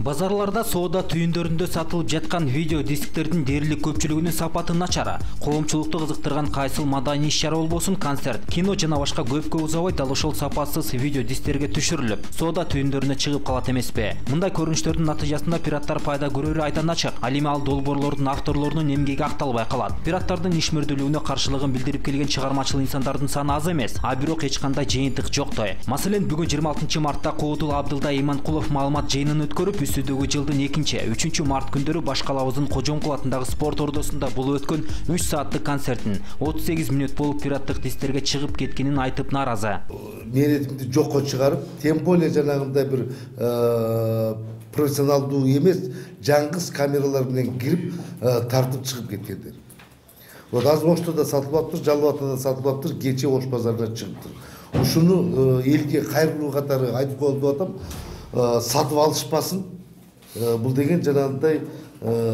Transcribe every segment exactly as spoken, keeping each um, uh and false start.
Базарларда соода түйүндөрүндө сатылып жаткан видео дисктердин дээрлик көпчүлүгүнүн сапаты начар. Коомчулукту кызыктырган кайсыл маданий иш-чара болбосун, концерт, кино жана башка көпкө узабай дал ошол сапатсыз видео дисктерге түшүрүлүп, соода түйүндөрүнө чыгып калат эмеспи? Мындай көрүнүштөрдүн натыйжасында пираттар пайда көрөрү айдан ачык. Ал эми ал долбоорлордун авторлорунун эмгеги акталбай калат. Пираттардын ишмердүүлүгүнө каршылыгын билдирип келген чыгармачыл инсандардын саны аз эмес, а бирок эч кандай жыйынтык жоктой. Маселен, бүгүн жыйырма алтынчы мартта Коодул Абдылдай Иманкулов маалымат жыйынын өткөрүп, үстүдөгү жылдын экинчи, үчүнчү март күндөрү Башкалабыздын Кожоңкул атындагы спорт ордосунда бул өткөн үч сааттык концертин отуз сегиз мүнөт болуп пираттык дистерге чыгып кеткенин айтып нааразы. Меретимди жокко чыгарып, тем более жанагындай бир профессионалдуу эмес, жаңгыз камералар менен кирип тартып чыгып кеткендер. Вот Азмошто да сатылып атыптыр, Жалал Атада да сатылып атыптыр, кече Ош базарына чыгыптыр. Ушуну элге кайрылуу катары айтып коюп атам, сатып алышпасын. Бул деген жанагындай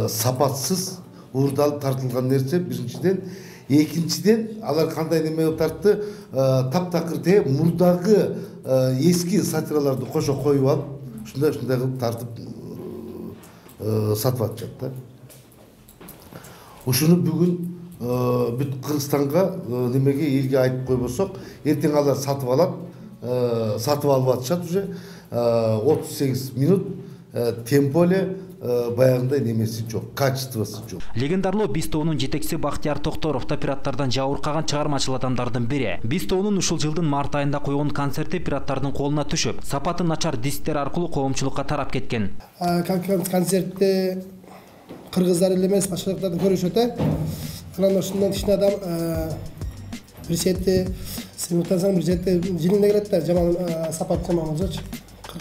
сапатсыз, уурдалып тартылган нерсе биринчиден. Экинчиден, алар кандай неме кылып тартты, таптакыр те мурдагы эски сатираларды кошо коюп алып, ушундай ушундай кылып тартып сатып атышат да. Ушуну бүгүн бүт Кыргызстанга немеге элге айтып койбосок, эртең алар сатып алат, сатып алып атышат уже отуз сегиз мүнөт, тем более баягындай немеси жок, качествосы жок. Легендарлуу Биз тобунун жетекчиси Бактияр Токторов да пираттардан жабыркаган чыгармачыл адамдардын бири. Биз тобунун ушул жылдын март айында койгон концерти пираттардын колуна түшүп, сапаты начар дисктер аркылуу коомчулукка тарап кеткен. Концертте кыргыздар эле эмес, башкалардан көрүшөт э. Анан ошондон кичине адам бир чети сыймыктансаң бир чети жинине келет да, жаман сапат жаман болсочу.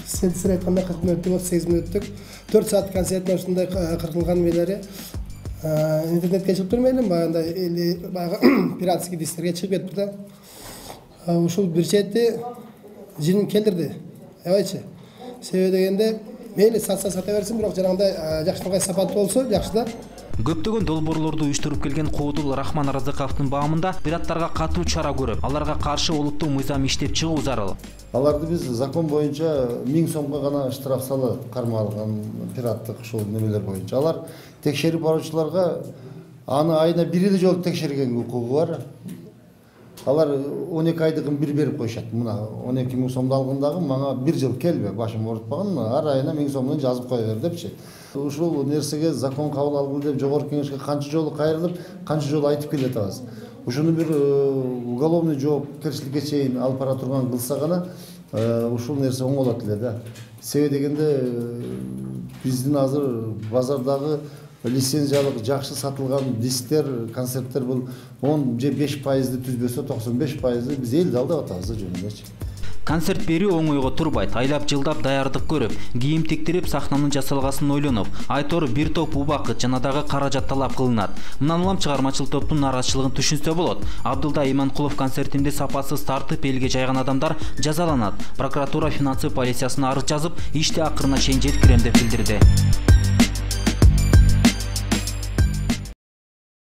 Сен айткандай кырк мүнөттүк, отуз сегиз мүнөттүк төрт саат концерттин ушундай кыркылган мелери интернетке чыгып турмайлы, баягындай эли баягы пиратский дистерге чыгып кетти да. Ушул бир чети жинин келтирди. Эбайчы. Себеби дегенде мейли сатса сата берсин, бирок жанагындай жакшынакай сапат болсо жакшы да. Көптөгөн долбоорлорду уюштуруп келген Коодул Рахман Разыковдун баамында пираттарга катуу чара көрүп, аларга каршы олуттуу мыйзам иштеп чыгуу зарыл. Аларды биз закон боюнча миң сомго гана штраф салы кармалган пираттык ушул немелер боюнча. Алар текшерип баруучуларга аны айына бир эле жолу текшерген укугу бар. Алар он эки айдыгын бир берип коюшат. Мына он эки миң сомду алгандагы мага бир жыл келбе, башым оорутпаган, ар айына миң сомдон жазып кое бер депчи. Ушул нерсеге закон кабыл алгыл деп жогорку кеңешке канча жолу кайрылып, канча жолу айтып келе атабыз. Ушуну бир уголовный жоопкерчиликке чейин алып бара турган кылса гана ушул нерсе оңолот эле да. Себеби дегенде биздин азыр базардагы лицензиялык жакшы сатылган дисктер, концерттер бул он же беш пайызды түзбөсө токсон беш пайызды биз элди алдап атабыз жөнүндөчү. Концерт берүү оңойго турбайт. Айлап жылдап даярдык көрүп, кийим тиктирип, сахнанын жасалгасын ойлонуп, айтор бир топ убакыт жана дагы каражат талап кылынат. Мындан улам чыгармачыл топтун нааразычылыгын түшүнсө болот. Абдылдай Иманкулов концертинде сапасыз тартып элге жайган адамдар жазаланат. Прокуратура финансы полициясына арыз жазып, ишти акырына чейин жеткирем деп билдирди.